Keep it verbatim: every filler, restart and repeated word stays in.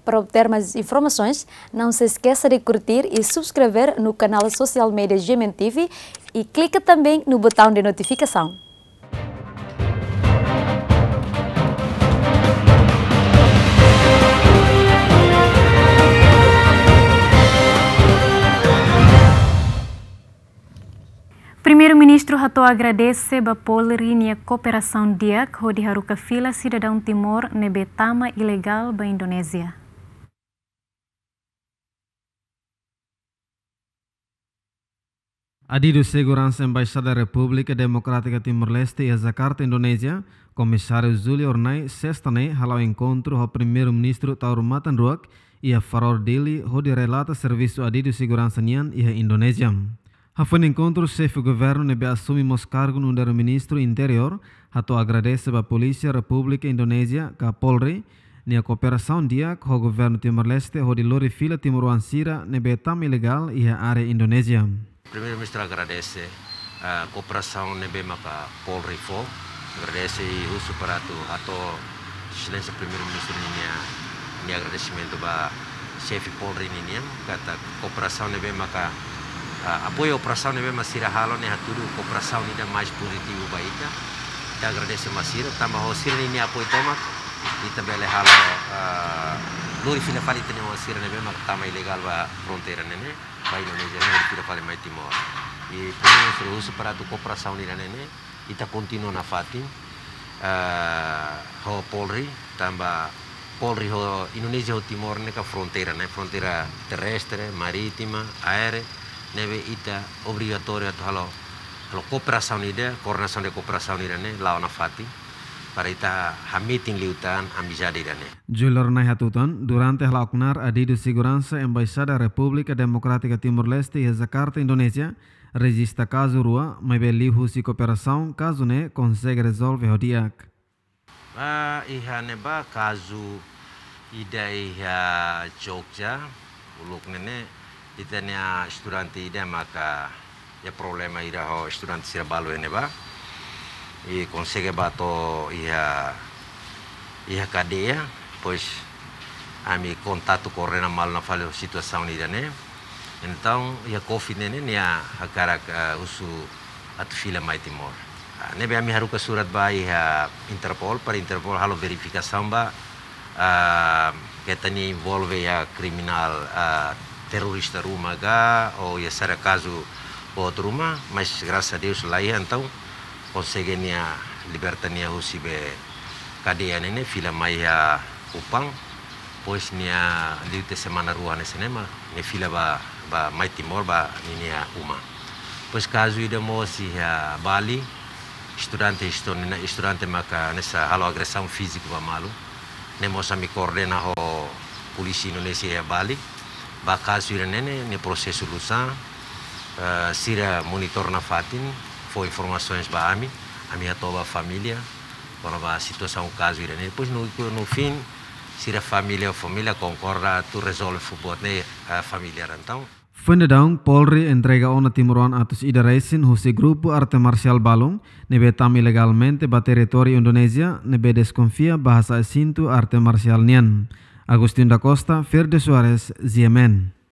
Para obter mais informações, não se esqueça de curtir e subscrever no canal social media G M N T V e clica também no botão de notificação. Primeiru-Ministru hato'o agradese ba Polri nia kooperasaun di'ak hodi haruka fila sidadaun Timor ne'ebé tama ilegál ba Indonézia. Adidu Seguransa Embaixada Repúblika Demokrátika Timor-Leste iha Jakarta, Indonézia, Komisáriu Júlio Hornai, sesta ne'e, hala'o enkontru ho Primeiru-Ministru Taur Matan Ruak iha Farol Dili, hodi relata servisu adidu seguransa nian iha Indonézia. Hafoin enkontru, Xefe Governu ne'ebé asume mós kargu nu'udar Ministru Interiór hato'o agradese ba Polísia Repúblika Indonézia ka Polri nia kooperasaun di'ak ho Governu Timor-Leste hodi lori fila timoroan sira ne'ebé tama ilegál iha área Indonézia. Primeiru-Ministru agradese, ah, kooperasaun ne'ebé maka Polri fó. Agradese i husu para atu hato'o Exelénsia Primeiru-Ministru ninia, nia agradesimentu ba Xefe Polri ninian, katak kooperasaun ne'ebé maka, ah, apoiu operasaun ne'ebé mak sira halo ne'e hatudu kooperasaun ida mais pozitivu ba ita. Ita agradese mai sira, tanba ho sira ninia apoiu tomak, ita bele halo, ah, lori fila fali ita-nia oan sira ne'ebé mak tama ilegál ba fronteira ne'e ne'e, ba Indonézia ne'e, lori fila fali mai Timor. I Primeiru-Ministru husu para atu kooperasaun ida ne'e ne'e, ita kontinua nafatin, ah, ho Polri, tanba Polri ho Indonézia ho Timor ne'e ka fronteira, ne'e fronteira terrestre, marítima, aérea, ne'ebé ita obrigatóriu atu halo, halo kooperasaun ida, koordenasaun de kooperasaun ida ne'e, la'o nafatin, para ita hametin liután amizade ida ne'e. Júlio Hornai hatutan, durante hala'o knaar adidu seguransa Embaixada Repúblika Demokrátika Timor-Leste iha Jakarta, Indonézia, rejista kazu rua, maibé liuhusi kooperasaun, kazu ne'e konsege rezolve ho di'ak. Ah, iha ne'ebá kazu ida iha Jogja, uluk ne'e ne'e, ita-nia estudante ida maka iha problema ida ho estudante sira balu iha ne'ebá. I konsege bá to'o iha, iha kadeia, depois ami kontatu koordena malu nafatin situasaun ida ne'e. Entaun, iha covid ne'e ne'e, nia hakarak, eh, husu atu fila mai Timor. Ah, ne'ebé ami haruka surat ba iha Interpol, para Interpol halo verifikasaun ba, ah, keta nia envolve iha kriminál, ah, terrorista ruma ka, ou iha saida kazu boot ruma, mas grasas a Deus laiha, entaun konsege nia liberta nia husi be kadeia ne'e ne'e, fila mai iha Kupang, depois nia liu tiha semana rua hanesan ne'e mak nia fila ba, ba mai Timor ba ninia uma. Depois kazu ida mós iha Bali, estudante, estu-, ne'e estudante maka hanesan halo agresaun fíziku ba malu. Ne'e mós ami koordena ho polísia Indonézia iha Bali. Ba kazu ida ne'e ne'e, nia prosesu oinsá, eh, sira monitor nafatin, fó informasaun ba ami, ami hato'o ba família kona-ba situasaun kazu ida ne'e. Depois no, no fim, sira família, família konkorda atu rezolve fó buat ne'e, eh, familiár entaun. Foin daudaun, Polri entrega ona timoroan atus ida resin husi grupu arte marsiál balun, ne'ebé tama ilegalmente ba territóriu Indonézia, ne'ebé deskonfia ba hasa'e sintu arte marsiál nian. Agostinho da Costa, Verde Soares, G M N.